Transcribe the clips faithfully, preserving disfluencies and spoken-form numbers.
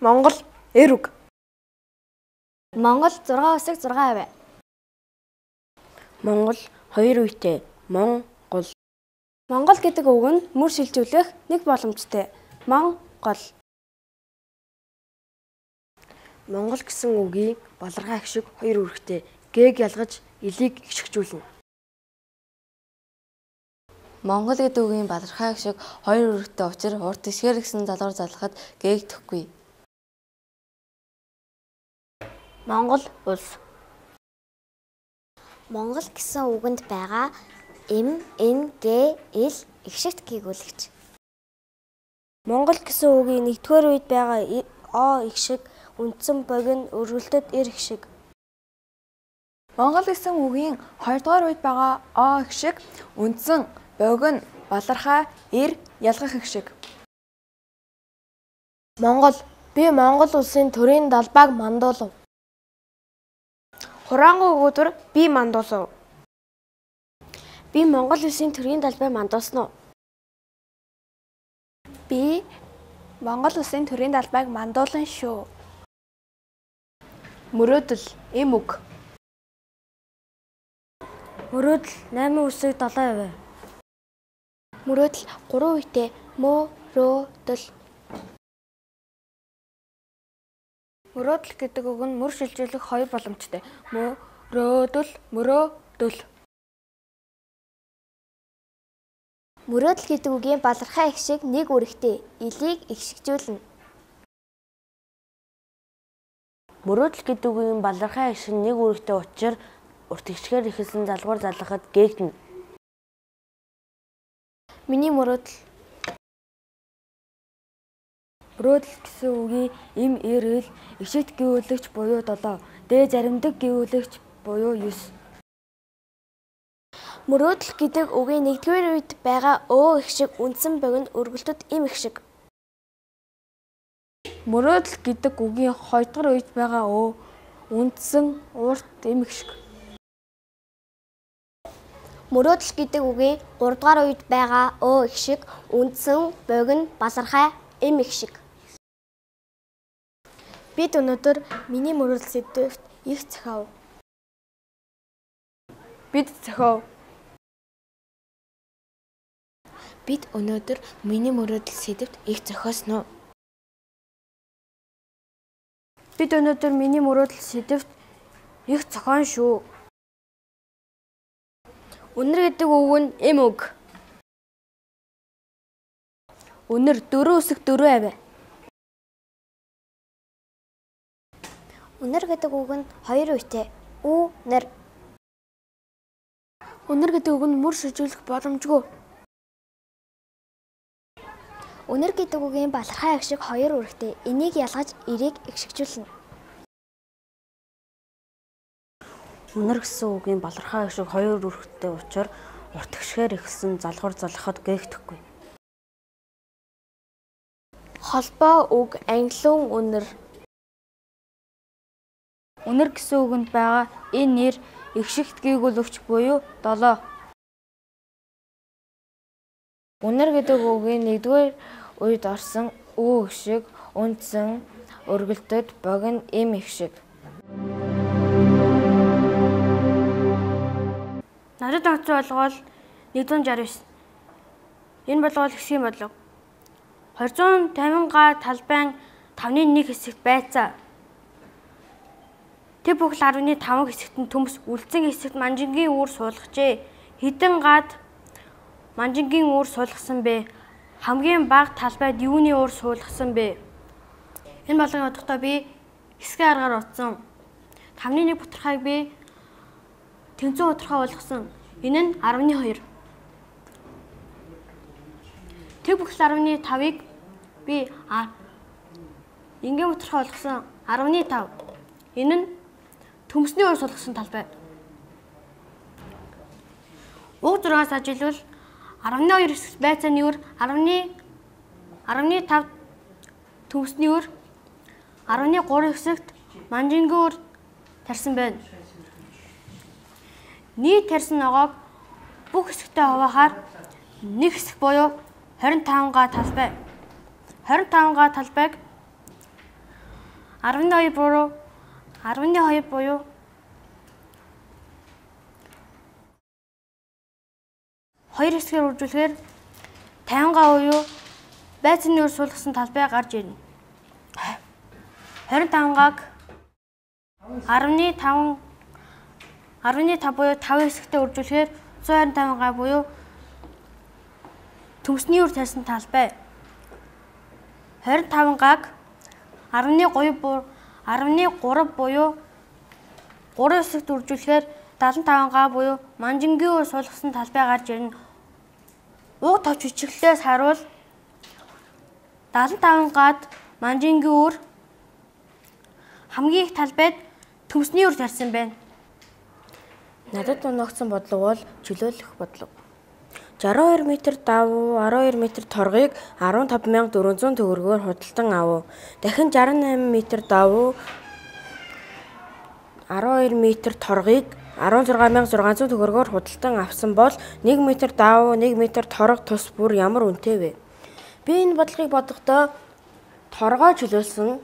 Монгол эр үг. Монгол зургаан үсэг зургаан авь. Монгол хоёр үетэй. Монгол. Монгол гэдэг үг нь мөр шилжүүлэх нэг боломжтой. Монгол. Монгол гэсэн үгийн балархаа их шиг хоёр үүрэгтэй. Г-г ялгаж элийг ихшгжүүлнэ. Монгол гэдэг үгийн балархаа их шиг хоёр үүрэгтэй учраас урт ишгээр гэсэн залгуур залгахад г-г төхгүй. Монгол улс. Монгол гэсэн үгэнд байгаа М, Н, Г, Л ихшигт гүйгүүлэгч. Монгол гэсэн үгийн нэгдүгээр үед байгаа О ихшиг, үндсэн богино, өргөлтөд эр ихшиг. Монгол гэсэн үгийн хоёрдугаар үед байгаа О ихшиг, үндсэн богино, балархаа, эр, ялгах ихшиг. Монгол. Би Монгол улсын төрийн далбайг мандуулав. Хураангуй өгөөдөр би мандуулав. Би Монгол улсын төрийн далбай мандуулсан уу? Би Монгол улсын төрийн далбайг мандуулсан шүү. Мөрөөдөл эм үг. Мөрөөдөл найман үсэг долоо авь. Мөрөөдөл гурван үетэй. Мөрөөдөл. Мөрөөдөл гэдэг үг нь мөр шилжүүлэх хоёр боломжтой. Мөрөөдөл, мөрөөдөл. Мөрөөдөл гэдэг үгийн балархаа их шиг нэг үүрэгтэй. Элийг ихшгжүүлнэ. Мөрөөдөл гэдэг үгийн балархаа их шиг нэг үүрэгтэй учраас урт ишгээр ихэлсэн залгуур залгахад г-гнэ. Миний мөрөөдөл. Мөрөөдөл гэсэн үгийн эм эр эл ишигт гүйүүлэгч буюу долоо, дэ заримдаг гүйүүлэгч буюу ёс. Мөрөөдөл гэдэг үгийн нэгдүгээр үед байгаа Ө ихшиг, үндсэн богино, өргөлтөд эм ихшиг. Мөрөөдөл гэдэг үгийн хоёрдугаар үед байгаа Ө, үндсэн, урт, эм ихшиг. Мөрөөдөл гэдэг үгийн гуравдугаар үед байгаа Ө ихшиг, үндсэн, богино, балархаа, эм ихшиг. Бид өнөөдөр миний мөрөөдөл сэдвт их зохиов. Бид зохиов. Бид өнөөдөр миний мөрөөдөл сэдвт их зохиосон уу? Бид өнөөдөр миний мөрөөдөл сэдвт их зохион шүү. Өнөр гэдэг үг нь эм үг. Өнөр дөрөв үсэг дөрөв авь. Өнөр гэдэг үг нь хоёр үетэй. Үнэр. Өнөр гэдэг үг нь мөр шилжүүлэх боломжгүй. Өнөр гэдэг үгийн балархаа их шиг хоёр үүрэгтэй. Энийг ялгаж эрийг ихшгжүүлнэ. Өнөр гэсэн үгийн балархаа их шиг хоёр үүрэгтэй учраас урт ишгээр ихэлсэн залгуур залгахад г-г төхгүй. Холбоо үг англиун өнөр. Өнөр гэсэн үгэнд байгаа энэ нэр ихшигт гүйгүүлэгч буюу долоо. Өнөр гэдэг үгийн нэгдүгээр үед орсон Ө ихшиг, үндсэн, өргөлтөд богино, эм ихшиг. Надад онцгой болгоол нэгдүгээр шарван девять. Энэ болгоол хэсгийн бодлого. хоёр зуун тавин га талбайн тавны нэг хэсэгт байцаа. Тэг бүхэл арваны таван хэсэгт нь төмс, үлдсэн хэсэгт манжингийн үүр суулгажээ. Хэдэн гад манжингийн үүр суулгасан бэ? Хамгийн бага талбайд юуны үүр суулгасан бэ? Энэ болгоны бодохдоо би хэсгийн аргаар утсан. Тавны нэг бутархайг би тэнцэн бутархай болгосон. Энэ нь арваны хоёр. Тэг бүхэл арваны тавыг би ингийн бутархай болгосон. арваны тав. Энэ нь төмсний уур суулгасан талбай. Уг зургаас ажиглавал арваны хоёр хэсэгт байцааны үүр арваны арваны тав төмсний үүр арваны гурав хэсэгт манжингийн үр тарьсан байна. Нийт тарьсан ногоог бүх хэсэгтээ хуваахаар нэг хэсэг буюу хорин таван га талбай. хорин таван га талбайг арваны хоёр буюу арваны хоёр буюу хоёр хэсгээр үржүүлэхээр таван га буюу байцны үр суулгасан талбай гарч ирнэ. хорин таван гаг арваны таван арваны тав буюу тав хэсэгтээ үржүүлэхээр зуун хорин таван га буюу төмсний үр тарьсан талбай. хорин таван гаг арваны гурав арваны гурав буюу гурав хэсэгт үржүүлэхээр дадлан таван га буюу манжингийн үр суулгасан талбай гарч ирнэ. Уг товч хичгэлээс харуул дадлан таван гад манжингийн үр хамгийн их талбайд төмсний үр тарьсан байна. Надад оногдсон бодлого бол чөлөөлөх бодлого. шестьдесят хоёр метр давуу, арван хоёр метр торгыг арван таван мянга дөрвөн зуун төгрөгөөр худалдан авав. Дахин шестьдесят восемь метр давуу, арван хоёр метр торгыг арван зургаан мянга зургаан зуун төгрөгөөр худалдан авсан бол нэг метр давуу, нэг метр торго тус бүр ямар үнэтэй вэ? Би энэ бодлогыг бодохдоо торгоо чөлөөлсөн.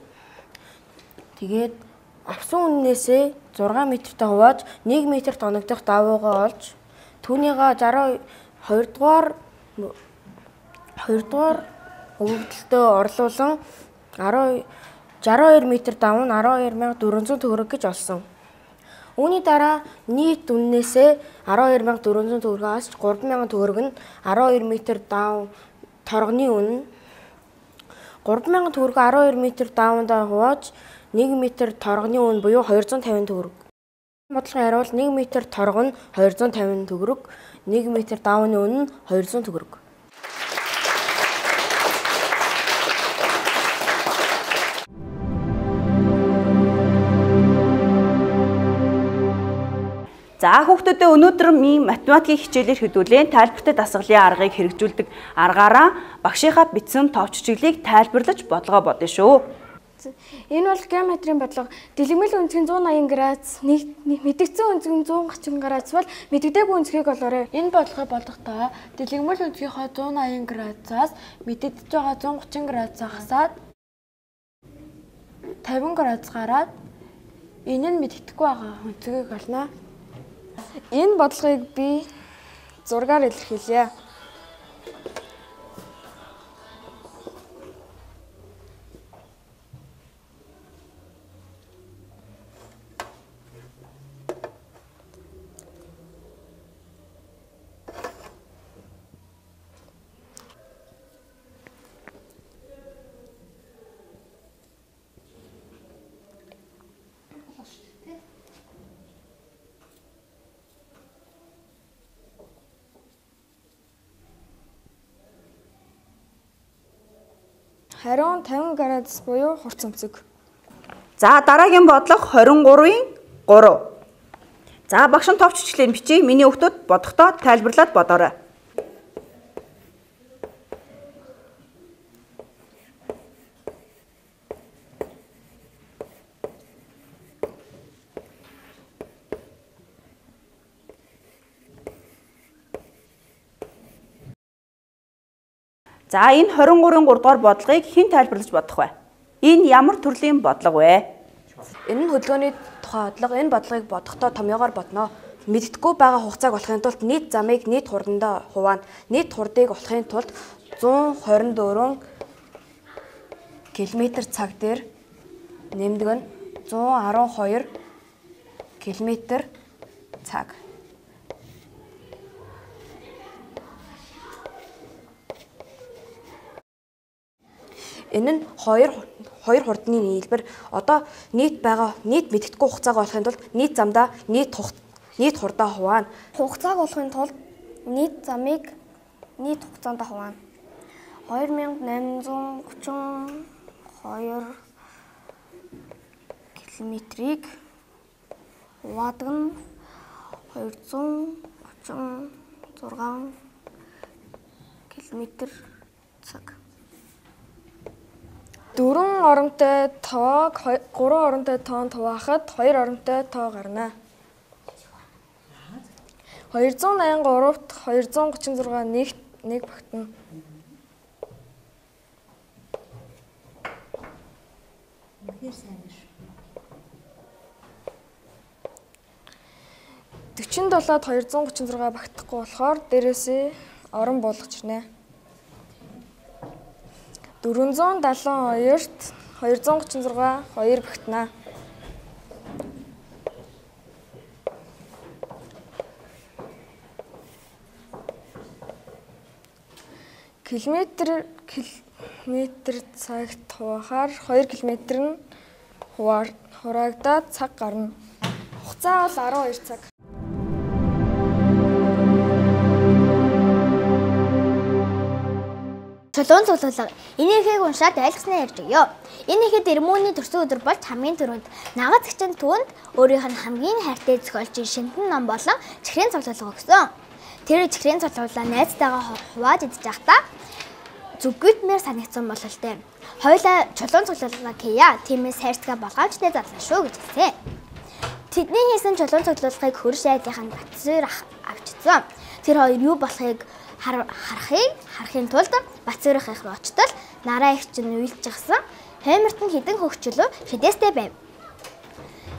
Тэгээд авсан үннээсээ зургаан метртэй хувааж нэг метрт оногдох давуугаа олж түүнийгээ шестьдесят хоёр дугаар хоёр дугаар өвөгдөлтөө орлуулан шестьдесят хоёр метр давуу нь арван хоёр мянга дөрвөн зуун төгрөг гэж олсон. Үүний дараа нийт үннээсээ арван хоёр мянга дөрвөн зуун төгрөгөөс гурван мянган төгрөг нь арван хоёр метр давуу торгоны үнэ. гурван мянган төгрөг арван хоёр метр давуундаа хувааж нэг метр торгоны үнэ буюу хоёр зуун тавин төгрөг. Бодлогын хариул нэг метр торго нь хоёр зуун тавин төгрөг, нэг метр давууны үнэ нь хоёр зуун төгрөг. За хүүхдүүдээ өнөөдөр минь математикийн хичээлээр хөдөлгөөн тайлбартай дасгалын аргыг хэрэгжүүлдэг аргаараа багшийнхаа бичсэн товч чиглэлийг тайлбарлаж бодлогоо бодно шүү. Энэ бол геометрийн бодлого. Дэлгэмэл үнцгийн зуун аян градус, мэдэгдсэн үнцгийн зуун гачин градус бол мэдэгдээгүй үнцгийг олоорой. Энэ бодлогыг бодохдоо дэлгэмэл үнцгийнхаа зуун аян градусаас мэдэгдэж байгаа зуун гачин градусаа хасаад тавин градус гараад энэ нь мэдэгдэхгүй байгаа үнцгийг олно. Энэ бодлогыг би зургаар илэрхийлье. Хариун тавин градус буюу хурц өмцөг. За дараагийн бодлого двадцать гурвын гурав. За багш нь товч хичээлээр бичиж миний хүүхдүүд бодохдоо тайлбарлаад бодоорой. За энэ двадцать гурвын гурав дугаар бодлогыг хэн тайлбарлаж бодох вэ? Энэ ямар төрлийн бодлого вэ? Энэ нь хөдөлгөөний тухай бодлого. Энэ бодлогыг бодохдоо томьёогоор бодно. Мэддэхгүй байгаа хугацааг олохын тулд нийт замыг нийт хурдандаа хуваана. Нийт хурдыг олохын тулд зуун хорин дөрвөн км цаг дээр нэмдэг нь зуун арван хоёр км цаг. Энэ нь хоёр хоёр хурдны нийлбэр. Одоо нийт байгаа нийт мэддэхгүй хугацааг олохын тулд нийт замдаа нийт нийт хурдаа хуваана. Хугацааг олохын тулд нийт замыг нийт хугацаанд хуваана. хоёр мянга найман зуун гучин хоёр км-ийг хуваадаг нь хоёр зуун гучин зургаан км цаг. Дөрвөн оронтой тоог гурван оронтой тоонд хуваахад хоёр оронтой тоо гарна. двести восемьдесят гуравт двести гучин зургаа нэгт нэг багтана. дөрвөн долоод двести гучин зургаа багтахгүй болохоор дээрээсээ орон буулгаж ирнэ. дөрвөн зуун даалгаван хоёрт двести гучин зургаа хоёр багтана. Километр километр цагт хуваахаар хоёр километр нь хураагдаад цаг гарна. Хугацаа бол арван хоёр цаг. Чулуун цуглуулга. Энийхийг уншаад ойлгосноо ярьж өгье. Энийхэд Ирмүний төрсөн өдөр болж хамгийн түрүүнд нагаз гिचэн түүнд өөрийнх нь хамгийн хайртай зохиолчийн шинтэн ном болон чихрийн цуглуулга өгсөн. Тэр чихрийн цуглуулга найзтайгаа хувааж идэж байхдаа зүггүйдмээр санагдсан бололтой. Хоёулаа чулуун цуглуулга хийя. Тиймээс хайрцаг болгоомжтой зарлаа шүү гэж хэлсэн. Тэдний хийсэн чулуун цуглуулгыг хөрш айлынхан Батсуур авчирсан. Тэр хоёр юу болохыг харахыг харахын тулд Батсуурих их руу очтол нараа их чинь уйлжчихсан. Хойморт нь хідэн хөгчлөө шидэстэй байв.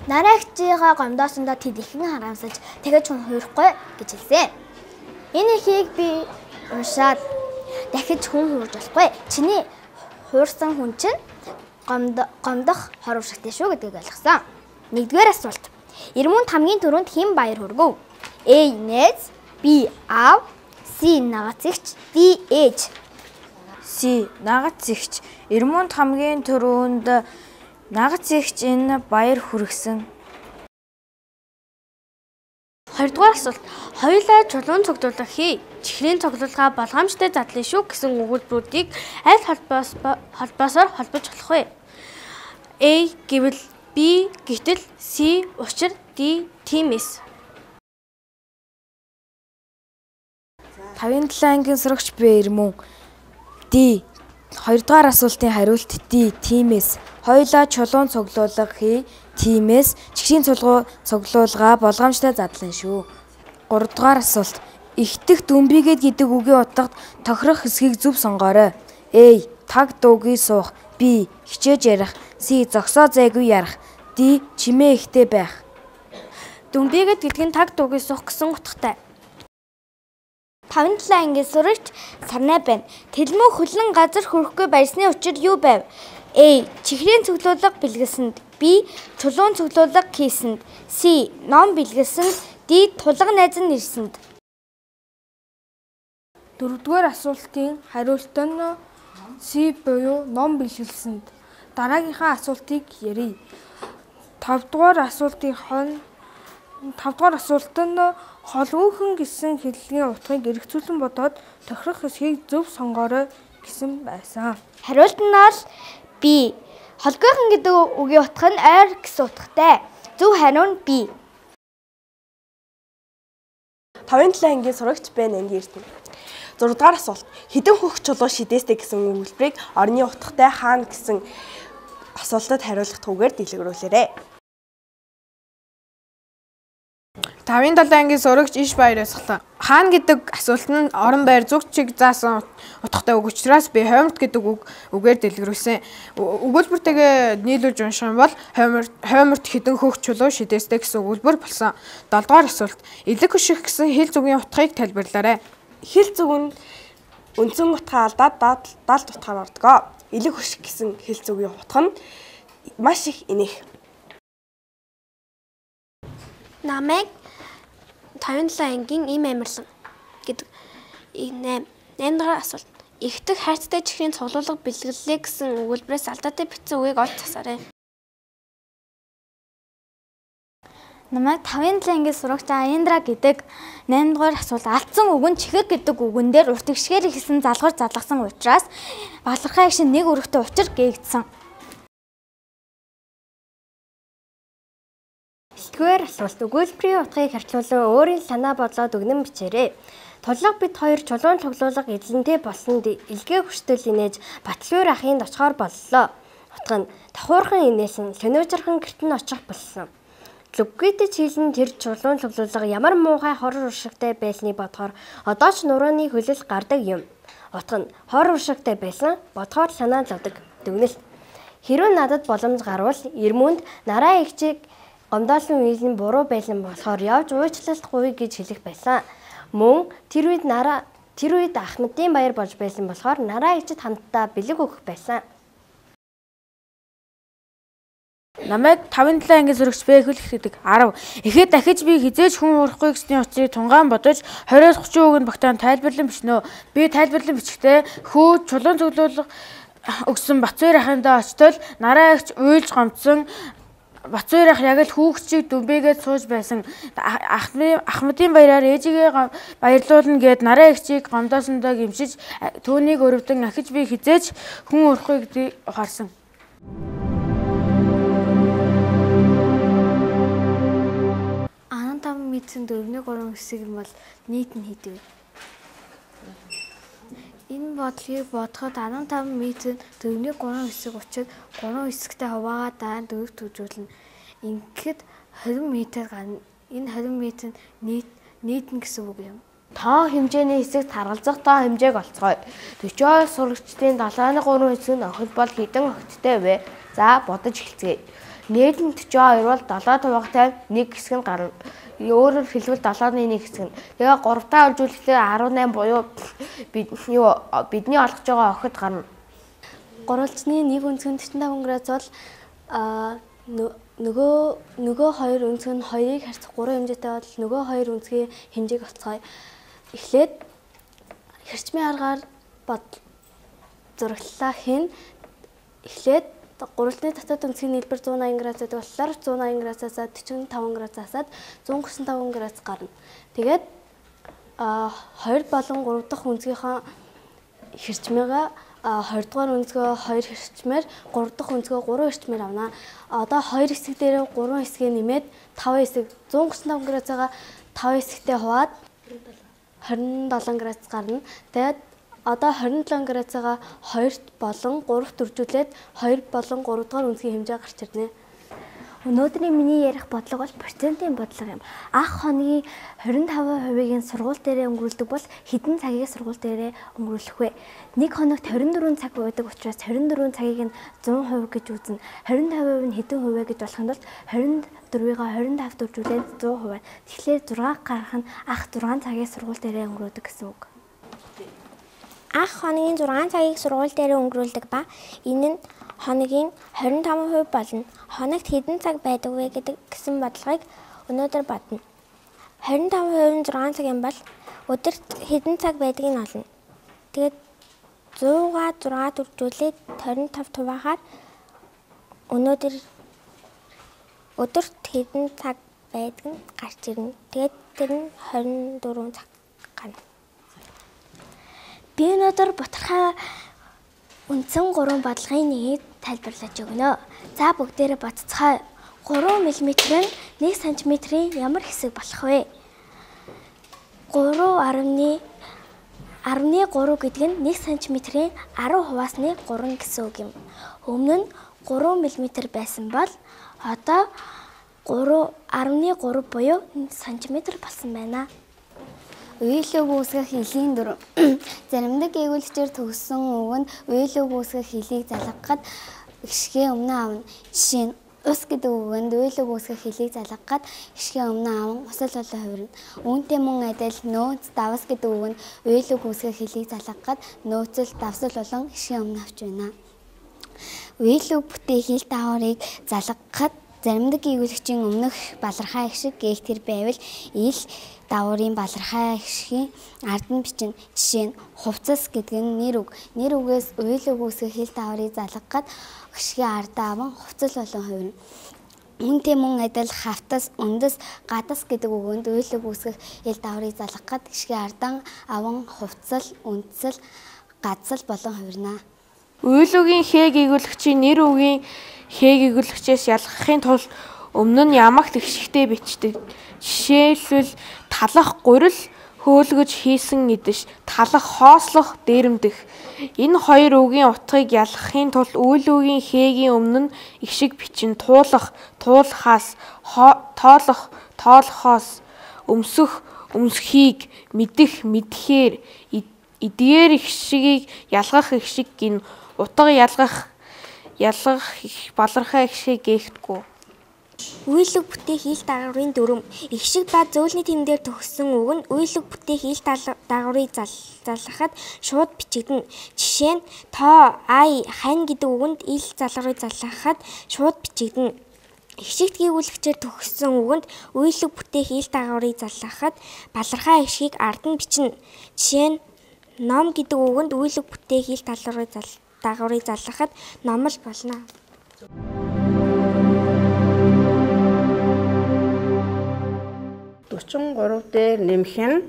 Нараа ихчигаа гомдоосондоо тэд ихэн харамсаж тэгэж хүн хуурахгүй гэж хэлсэн. Энэ ихийг би уншаад дахиж хүн хуурж болохгүй. Чиний хуурсан хүн чинь гомдох хор уршигтэй шүү гэдгийг ойлгосон. Нэгдүгээр асуулт. Ирмүнд хамгийн түрүүнд хэн баяр хүргэв? A. Нэз, B. Аав, C. Нагацэгч, D. Ээж. C. Нагацэгч. Ирмүнд хамгийн түрүүнд нагацэгч энэ баяр хүргэсэн. Хоёрдугаар асуулт. Хоёулаа чулуун цуглуулга хий. Чихрийн цуглуулга болгоомжтой задлаа шүү гэсэн өгүүлбэрүүдийг аль холбоос холбоосоор холбож болох вэ? A. Гэвэл, B. Гэтэл, C. Учир, D. Тиймээс. тавын долоо ангийн сурагч бэ Ирмүн. D. Хоёрдугаар асуултын хариулт D. Тиймээс. Хоёулаа чулуун цуглуулга хий. Тиймээс чихрийн цуглуулга болгоомжтой задлаа шүү. Гуравдугаар асуулт. Ихтэх дүмбигээд гэдэг үгийн утгад тохирох хэсгийг зөв сонгоорой. A. Таг дуугүй суух. B. Хичээж ярих. C. Зогсоо зайгүй ярих. D. Чимээ ихтэй байх. Дүмбигээд гэдэг нь таг дуугүй суух гэсэн утгатай. тавын долоо ангийн сурагч Сарнай байна. Тэлмүү хөлн газар хүрэхгүй байсны учир юу байв? A. Чихрийн цуглуулга бэлгэлсэнд. B. Чулуун цуглуулга хийсэнд. C. Ном бэлгэлсэнд. D. Тулга найз нь ирсэнд. Дөрөвдүгээр асуултын хариулт нь C буюу ном бэлгэлсэнд. Дараагийнхаа асуултыг ярив. тавдугаар асуултын хон тавдугаар асуулт нь холгүйхэн гэсэн хэллэгийн утгыг эргцүүлэн бодоод тохирох хэсгийг зөв сонгоорой гэсэн байсан. Хариулт нь бол B. Холгойхон гэдэг үгийн утга нь ойр гэсэн утгатай. Зөв хариу нь B. тавын долоо ангийн сурагч бэ Нанди Эрдэнэ. зургаадугаар асуулт. Хэдэн хөх чулуу шидэстэй гэсэн өгүүлбэрийг орны утгатай хаана гэсэн асуултад хариулах түүгээр дэлгэрүүлээрэй. тавын долоо ангийн сурагч Иш Баяр асуулаа. Хаана гэдэг асуулт нь орон байр зүг чиг заасан утгатай үг учраас би хойморт гэдэг үг үгээр дэлгэрүүлсэн. Өгүүлбэртэйгээ нийлүүлж унших юм бол хойморт хойморт хэдэн хөх чулуу шидэстэй гэсэн өгүүлбэр болсон. долдугаар асуулт. Элэг хөших гэсэн хэл зүгийн утгыг тайлбарлаарай. Хэл зүг нь үндсэн утгаа алдаад далд утгаар ордог. Элэг хөших гэсэн хэл зүгийн утга нь маш их энэх. Намайг тавын долоо ангийн им амирлан гэдэг нэм наймдугаар асуулт. Ихтэх хайрцагтай чихрийн цуглуулга бэлгэллээ гэсэн өгүүлбэрээс алдаатай бичсэн үгийг олж засаарай. Намайг тавын долоо ангийн сурагч Аяндра гэдэг наймдугаар асуулт. Алдсан үг нь чихэр гэдэг үгэн дээр урт гიშгээр ихсэн залгуур залгасан учраас балархай агшин нэг өргөтэй учир гээгдсэн. Тэгвэр асуулт. Өгүүлбэрийн утгыг харьцуулан өөрийн санаа бодлоод өгнөн бичээрэй. Тулга бид хоёр чулуун цуглуулга эзлэнтэй болсонд илгээ хүчтэл инээж Батлуур ахынд очихоор боллоо. Утга нь давхуурхан инээсэн сониржирхан гэрт нь очих болсон. Лүггийдэж хийлэн тэр чулуун цуглуулга ямар муухай хор уршигтай байсныг бодохоор одоо ч нурууны хөлөл гардаг юм. Утга нь хор уршигтай байсан бодохоор санаа зовдөг. Дүгнэлт. Хэрвээ надад боломж гарвал Ирмүнд нараа эгчийг гомдоолсон үйл нь буруу байсан болохоор явж уучлалтгүй гэж хэлэх байсан. Мөн тэр үед нараа тэр үед Ахмадын баяр болж байсан болохоор нараа эгчид хамтдаа бэлэг өгөх байсан. Намайг тавын талаа ангийн зурагч бэ хөлөх гэдэг арав. Эхээд дахиж би хизээж хүн урахгүй гэсний учрыг тунгаан бодож двадцать тридцать үгэнд багтаан тайлбарлан бичнэ. Би тайлбарлан бичихдээ хүү чулуун цуглуулга өгсөн Бацбаяр ахындаа очтол нараа эгч уйлж гомдсон Бацбаяр ах яг л хүүхчийг дүмбэгээд сууж байсан. Ахмадын баяраар ээжигээ баярлуулна гэд нараа эгчийг гомдоосондоо гимшиж түүнийг өрөвдөн ахиж би хизээж хүн урахгүй гэдгийг ухаарсан. Анан таван мэдсэн дөрвний гурван хэсэг юм бол нийт нь хэд вэ? Энэ бодлогыг бодоход арван таван метр дөрвний гурван хэсэг учраад гурван хэсэгтэй хуваагаа дараа дөрөв төвжүүлнэ. Ингээд двадцать метр гарна. Энэ двадцать метр нийт нийтэн гэсэн үг юм. Тоо хэмжээний хэсэгт харгалзах тоо хэмжээг олцгоё. forty сурагчдын долооны гурван хэсэг нь охид бол хэдэн охидтой вэ? За бодож эхэлцгээе. Нийт нь forty-two бол долоо хуваагтай нэг хэсэг нь гарна. Өөрөөр хэлбэл долооны нэг хэсэг нь. Тэгээ гуравтаа олжүүлэхдээ eighteen буюу бид юу бидний олгож байгаа охид гарна. Гурвалжны нэг өнцгөн forty-five градус бол а нөгөө нөгөө хоёр өнцөг нь хоёрыг харьцах гурван хэмжээтэй бол нөгөө хоёр өнцгийн хэмжээг олцгоё. Эхлээд хэрчмийн аргаар бод зураглалаа хийн. Эхлээд гурвалжны дотоод өнцгийн нийлбэр one eighty градусад болохоор one eighty градусаас forty-five градусаас one thirty-five градус гарна. Тэгээд а хоёр болон гурав дахь өнцгийнхаа хэрчмээгээ twenty дугаар өнцгөө хоёр хэрчмээр гурав дахь өнцгөө three хэрчмээр авна. Одоо хоёр хэсэг дээр three хэсгээ нэмээд five хэсэг one thirty-five градусаа five хэсэгтэй хуваад twenty-seven градус гарна. Тэгээд одоо twenty-seven градусаа two болон three төржүүлээд two болон three дугаар өнцгийн хэмжээ гарч ирнэ. Өнөөдрийн миний ярих бодлого бол процентын бодлого юм. Анх хоногийн twenty-five хувийн сургууль дээрээ өнгөрүүлдэг бол хэдэн цагийг сургууль дээрээ өнгөрүүлэх вэ? Нэг хоногт twenty-four цаг байдаг учраас twenty-four цагийг нь one hundred гэж үзнэ. twenty-five хувь нь хэдэн хувь вэ гэж болохын тулд twenty-four-ыг twenty-five дөржүүлээд one hundred хувь. Тэгэхээр six гарах нь анх six цагийг сургууль дээрээ өнгөрөөдөг гэсэн үг. Анх хоногийн six цагийг сургууль дээрээ өнгөрүүлдэг ба энэ нь хоногийн twenty-five хувь болно. Хоногт хэдэн цаг байдаг вэ гэдэг гэсэн бодлогыг өнөөдөр бодно. twenty-five хувь нь six цаг юм бол өдөрт хэдэн цаг байдгийг нь олно. Тэгээд one hundred-га six дөржүүлээд twenty-five хуваагаар өнөөдөр өдөрт хэдэн цаг байдаг нь гарч ирнэ. Тэгээд тэр нь twenty-four цаг гарна. Би өнөөдөр бутархай үндсэн гурван бодлогын нэгийг тайлбарлаж өгнө. За бүгдээрээ бодцгоо. three миллиметр нь one сантиметрийн ямар хэсэг болох вэ? three ten three гэдэг нь one сантиметрийн ten хуваасны three гэсэн үг юм. Өмнө нь three миллиметр байсан бол одоо three ten three буюу one сантиметр болсон байна. Уйлог үүсгэх хилийн дүр. Заримдаг эгүүлэгчээр төгссөн үг нь уйлог үүсгэх хилийг залгахад гიშгээ өмнө аавна. Жишээ нь ус гэдэг үгэнд уйлог үүсгэх хилийг залгахад гიშгээ өмнө аавн усал болон хувирна. Үүнтэй мөн адил нөөц давс гэдэг үгэнд уйлог үүсгэх хилийг залгахад нөөцөл давсал болон гიშгээ өмнө авч байна. Уйлог бүтээх хил дааврыг залгахад заримдаг эгүүлэгчийн өмнөх балархаа их шиг гээгтэр байвал ил дааврын балархаа их шиг ард нь бичнэ. Жишээ нь хувцас гэдэг нь нэр үг. Нэр үгээс уйлог үүсгэх хил дааврыг залгахад гიშгээ ардаа аван хувцас болон хувирна. Үүнтэй мөн адил хавтас, үндэс, гадас гэдэг үгэнд уйлог үүсгэх хил дааврыг залгахад гიშгээ ардаа аван хувцас, үндэсэл, гадсал болон хувирна. Уйлогийн хээ гэгүүлэгчийн нэр үгийн хээ гэгүүлэгчээс ялгахын тулд өмнө нь ямагт ихшигтэй бичдэг. Жишээлбэл талах гурил хөөлгөж хийсэн идэж талах хоослох дээрэмдэх. Энэ хоёр үгийн утгыг ялгахын тулд үйл үгийн хээгийн өмнө нь их шиг бичин туулах, туулахаас, тоолох, тоолохоос, өмсөх, өмсөхийг, мэдэх, мэдэхээр, эдгээр их шигийг ялгах их шиг гин утга ялгах, ялгах балархаа их шиг гээхдэггүй. Үйлэг бүтээх ил дагаврын дүрм их шиг ба зөөлний тэмдгээр төгссөн үг нь үйлэг бүтээх ил дагаврыг залгахад шууд бичигдэнэ. Жишээ нь тоо, ай, хань гэдэг үгэнд ил залгаврыг залгахад шууд бичигдэнэ. Их шигт гүйүүлэгчээр төгссөн үгэнд үйлэг бүтээх ил дагаврыг залгахад балархаа их шгийг ард нь бичнэ. Жишээ нь ном гэдэг үгэнд үйлэг бүтээх ил дагаврыг залгахад номл болно. дөрвөн гурав дээр нэмэх нь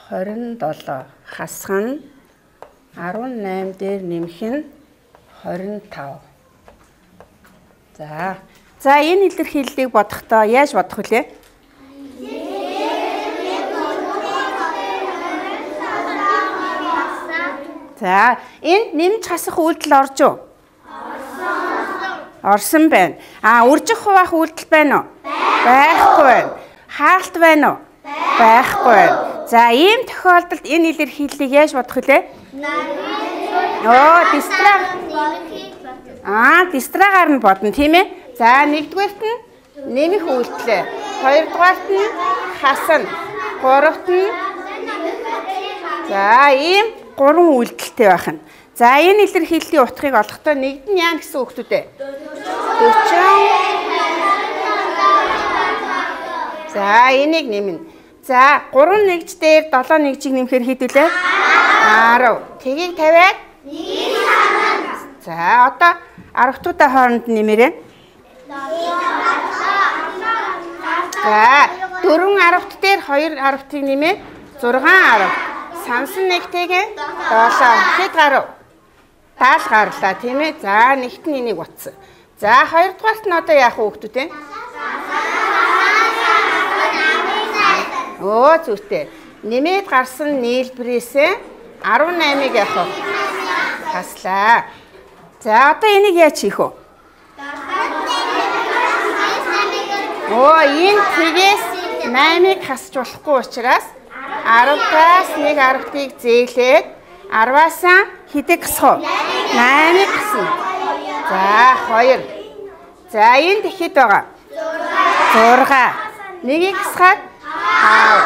хорин долоо, хасах нь арван найм дээр нэмэх нь хорин тав. За. За энэ илэрхийллийг бодохдоо яаж бодох вүлээ? За, энд нэмж хасах үйлдэл орж уу? Орсон. Орсон байна. А үржих хуваах үйлдэл байна уу? Байхгүй байна. Хаалт байна уу? Байхгүй байна. За, ийм тохиолдолд энэ илэрхийллийг яаж бодох вүлээ? Оо, дистраг. Аа, дистрагаар нь бодно, тийм ээ? За, нэгдүгээрт нь нэмэх үйлдэлээ. Хоёрдугаарт нь хасна. Гуравт нь За, ийм гурван үйлдэлтэй байх нь. За, энэ илэрхийллийн утгыг олохдоо нэгд нь яа гэсэн үг үү? дөрвөн. За, энийг нэмнэ. За, гурван нэгж дээр долоо нэгжийг нэмэхээр хэд вүлээ? арав. Тгийг тавиад нэг санана. За, одоо арвтуудаа хооронд нэмээрэй. За, дөрвөн арвт дээр хоёр арвтыг нэмээ зургаан арав. Сансан нэгтэйгээ долоо. Хэд гарав? даал гарлаа, тийм ээ? За, нэгт нь энийг утсан. За, хоёрдугаарт нь одоо яах вэ хөөтүүд вэ? Оо, зүгтээ. Нэмээд гарсан нийлбэрээсээ арван наймыг яах вэ? Хаслаа. За, одоо энийг яаж хийх вэ? Оо, энэ тгээс наймыг хасч болохгүй учраас аравтаас нэг арвтыг зээлээд арваасаа хэдэг гасах вэ? наймыг гасна. За, хоёр. За, энэ тэгэхэд байгаа. зурга. Нэгийг гасгаад хав.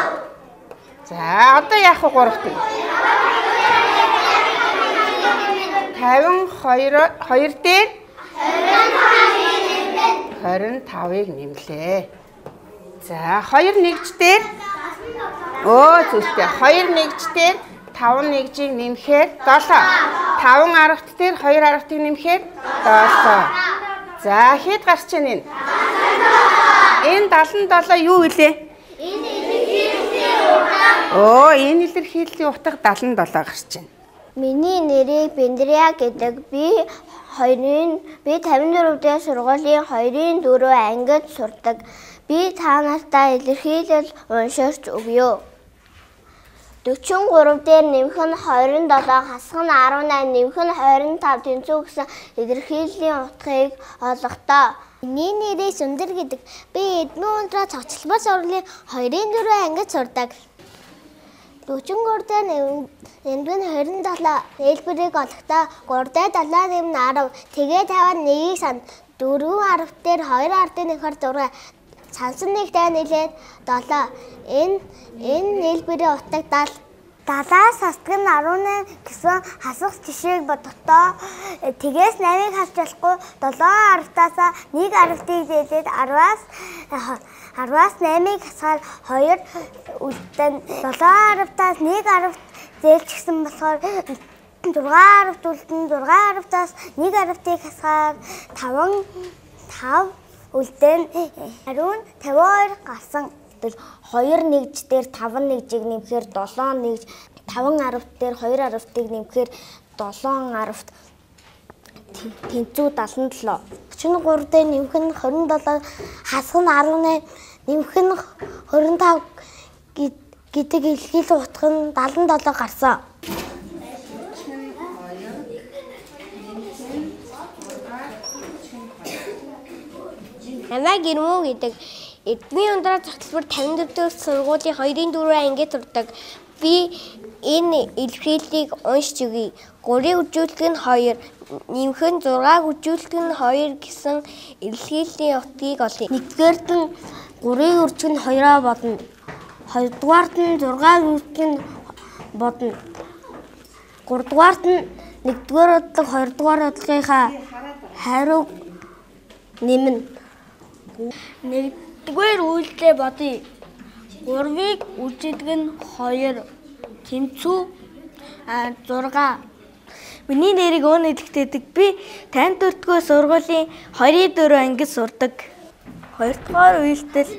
За, одоо яах вэ гуравт? тавин хоёр хоёр дээр хорин тавыг нэмлээ. За, хоёр нэгж дээр Оо, зүгтээ. хоёр нэгж дээр таван нэгжийг нэмэхээр долоо. таван арвт дээр хоёр арвтыг нэмэхээр долоо. За, хэд гарч байна энэ? Энэ даалан долоо юу вэ? Оо, энэ илэрхийллийн утга даалан долоо гарч байна. Миний нэрийг Бендрия гэдэг. Би хоёрын би тавин дөрөв дэх сургуулийн хоёрын дөрөв ангид сурдаг. Би та нартай илэрхийлэл унширч өгье. дөрвөн гурав дээр нэмэх нь двадцать семь, хасах нь десять, нэмэх нь двадцать пять тэнцүү гэсэн илэрхийллийн утгыг олгохдоо. Миний нэрийг Сүндэр гэдэг. Би Эдмэн ундраа цогцлбол сургуулийн хоёрын дөрөв ангид сурдаг. дөрвөн гурав дээр нэмэх нь двадцать семь, хэлбэрийг олохдоо три дээр семь нэмнэ арав. Тэгээ тавиад нэгийг санд. дөрвөн арвт дээр хоёр ардын нөхөр зураг. Сансан нэгтэй нийлээд долоо. Энэ энэ нийлбэрийн утга дал. Далаас хасдаг нь десять гэсэн хасах жишээг бодохдоо тэгээс восемь-ыг хасч болохгүй. долоо арвтаас нэг арвтыг зээлээд арваас арваас восемь-ыг хасгаар хоёр үлдэн. долоо арвтаас нэг арвт зээлчихсэн болохоор зургаан арвт үлдэн. зургаан арвтаас нэг арвтыг хасгаар таван тав үлдэн. Хариун тавин хоёр гарсан. хоёр нэгж дээр таван нэгжийг нэмэхээр долоо нэгж, таван арвт дээр хоёр арвтыг нэмэхээр долоо арвт тэнцүү даалан долоо. орчим гурав дээр нэмэх нь двадцать семь, хасах нь десять, нэмэх нь двадцать пять гэдэг илгийлэн утга нь даалан долоо гарсан. Намайг Ирмүү гэдэг Эдмийн ундраа цогцлбор тавин дөрөв дэх сургуулийн хоёрын дөрвөн ангид сурдаг. Би энэ илэрхийллийг уншиж өгье. Гурийн үржүүлэлт нь хоёр, нэмэх нь зургааг үржүүлэлт нь хоёр гэсэн илэрхийллийн утгыг олъё. Нэгдүгээрт нь гурийн үржих нь хоёроо бодно. Хоёрдугаарт нь зургааг үржих нь бодно. Гуравдугаарт нь нэгдүгээр бодлого хоёрдугаар бодлогынхаа хариуг нэмнэ. Нэгдүгээр үйлдэлээ бодъё. Гурвыг үржүүлдэг нь хоёр, тэнцүү а зураг. Миний нэрийг өөний тэгтэйдэг. Би тавин дөрөвдүгээр сургуулийн хоёрын дөрөв ангид сурдаг. Хоёрдугаар үйлдэл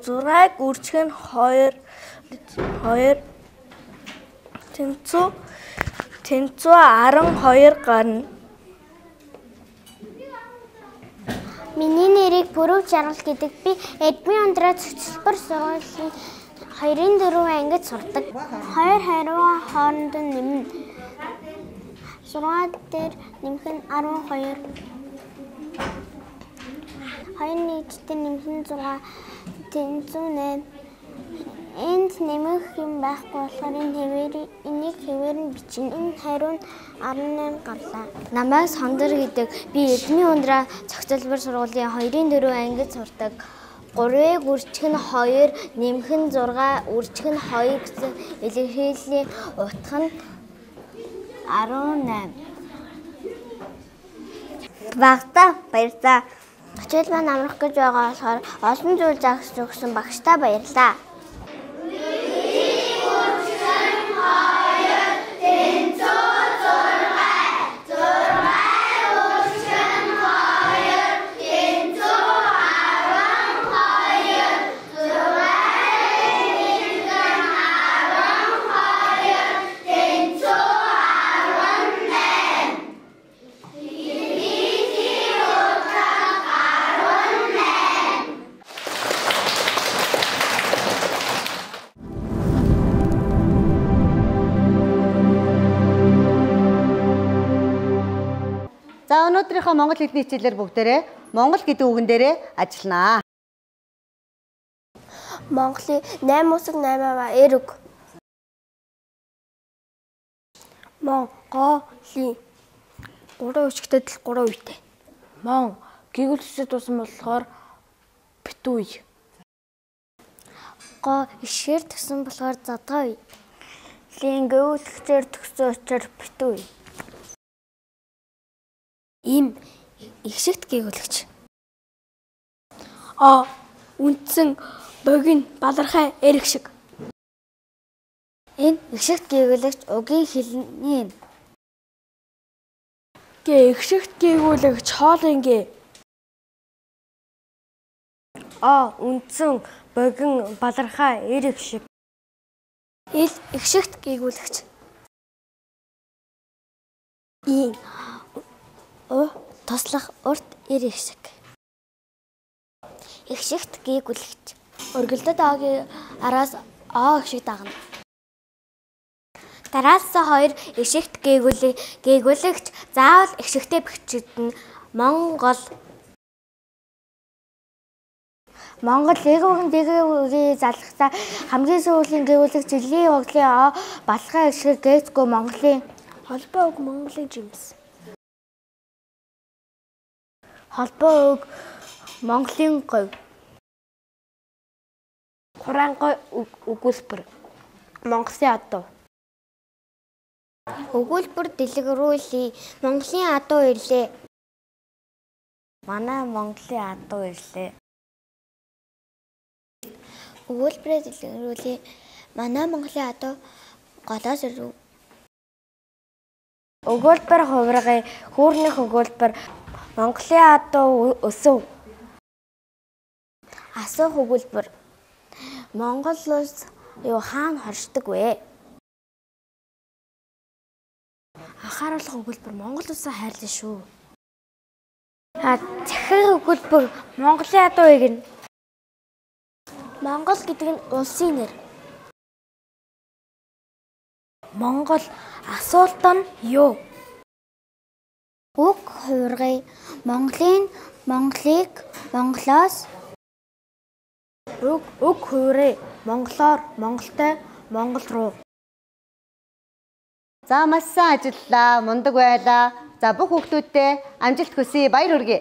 зургааг үржих нь хоёр, хоёр тэнцүү тэнцүү арван хоёр гарна. Миний нэрийг Бүрөв Жаргал гэдэг. Би Эдмийн ундраа цогцлбор сургуулийн хоёрын дөрөв ангид сурдаг. Хоёр хариугаа хооронд нь нэмнэ. Зураг дээр нэмэх нь арван хоёр. Хоёр нийтдээ нэмэх нь зураг, тэнцүү найм. Энд нэмэх юм байхгүй болохоор энэ хэвээр энийг хэвээр нь бичнэ. Энэ хариу нь арван найман гарлаа. Намайг Сондөр гэдэг. Би Эдмийн ундраа цогцлбор сургуулийн хоёрын дөрөв ангид сурдаг. Гурвыг үржих нь хоёр, нэмэх нь зураг, үржих нь хоёр гэсэн илэрхийллийн утга нь арван найм. Багтаа баярлалаа. Хичээл маань амрах гэж байгаа болохоор олон зүйл зааж өгсөн багштаа баярлалаа. За өнөөдрийнхөө монгол хэлний хичээлээр бүгдээрээ монгол гэдэг үгэн дээрээ ажилланаа. Монголын найм усаг найм аваа эрг. Монголын гурван үчигтэй дэл гурван үетэй. Мон гэгүүлсэд тусан болохоор битүү үе. Го ишгээр төсөн болохоор задгаа үе. Лин гэгүүлсээр төгсөн учраас битүү үе. Им ихшигт гээгүүлэгч. А үндсэн богино балархай эрг шиг. Энэ ихшигт гээгүүлэгч угийн хэлний юм. Гэ ихшигт гээгүүлэгч хоолын гээ. А үндсэн богино балархай эрг шиг. Ил ихшигт гээгүүлэгч. И О туслах урт эрэг шиг. Ихшигт гээгүүлэгч. Өргөлдөд Огийн араас О шиг дагна. Дараас хоёр ихшигт гээгүүлэг гээгүүлэгч заавал ихшигтэй бичигдэнэ. Монгол Монгол эгүүгийн дэгийн залхсаа хамгийн сүүлийн гээгүүлэгч жилийн оглын О балхаа ихшиг гээцгүй Монголын холбоо үг Монголын жимс. холбоо үг Монголын говь. Хураангой өгүүлбэр Монголын адуу. Өгүүлбэр дэлгэрүүлээ. Монголын адуу ирлээ. Манай Монголын адуу ирлээ. Өгүүлбэрээ дэлгэрүүлээ. Манай Монголын адуу голоос ирв. Өгүүлбэр хувиргын хүүрнийх өгүүлбэр Монголын адуу өсөв. Асуух өгүүлбэр. Монгол улс юу хаана хоршдог вэ? Анхааруулах өгүүлбэр Монгол улсаа хайрлаа шүү. А захирах өгүүлбэр Монголын адуу игнэ. Монгол гэдэг нь улсын нэр. Монгол. Асуулт нь юу? Уг хуургая. Монголын Монголыг Монголоос Уг уг хуурай. Монголоор Монголтой Монгол руу. За маш сайн ажиллалаа. Мундаг байлаа. За бүх хүүхдүүдтэй амжилт хүсье. Баяр хүргэе.